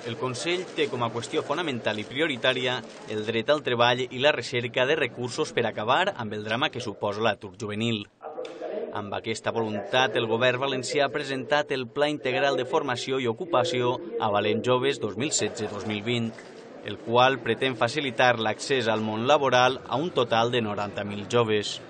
El Consell té com a qüestió fonamental i prioritària el dret al treball i la recerca de recursos per acabar amb el drama que suposa l'atur juvenil. Amb aquesta voluntat, el govern valencià ha presentat el Pla Integral de Formació i Ocupació a Valent Joves 2016-2020, el qual pretén facilitar l'accés al món laboral a un total de 90.000 joves.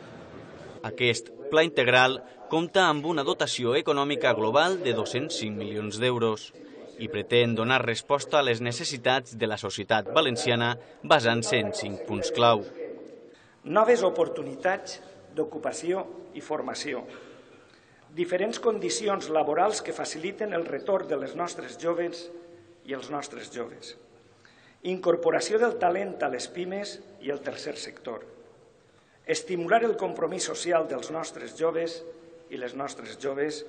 Aquest Pla Integral compta amb una dotació econòmica global de 205 milions d'euros i pretén donar resposta a les necessitats de la societat valenciana basant-se en 5 punts clau. Noves oportunitats d'ocupació i formació, diferents condicions laborals que faciliten el retorn de les nostres joves i els nostres joves, incorporació del talent a les pimes i el tercer sector, estimular el compromís social dels nostres joves i les nostres joves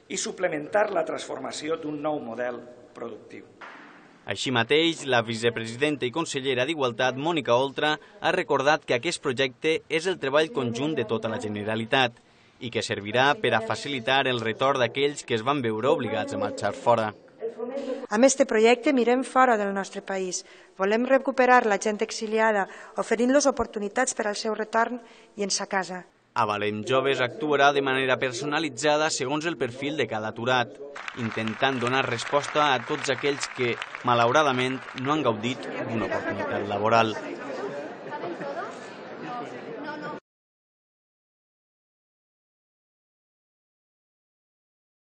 i suplementar la transformació d'un nou model productiu. Així mateix, la vicepresidenta i consellera d'Igualtat, Mònica Oltra, ha recordat que aquest projecte és el treball conjunt de tota la Generalitat i que servirà per a facilitar el retorn d'aquells que es van veure obligats a marxar fora. Amb aquest projecte mirem fora del nostre país. Volem recuperar la gent exiliada, oferint-los oportunitats per al seu retorn i en sa casa. A Valent Joves actuarà de manera personalitzada segons el perfil de cada aturat, intentant donar resposta a tots aquells que, malauradament, no han gaudit d'una oportunitat laboral.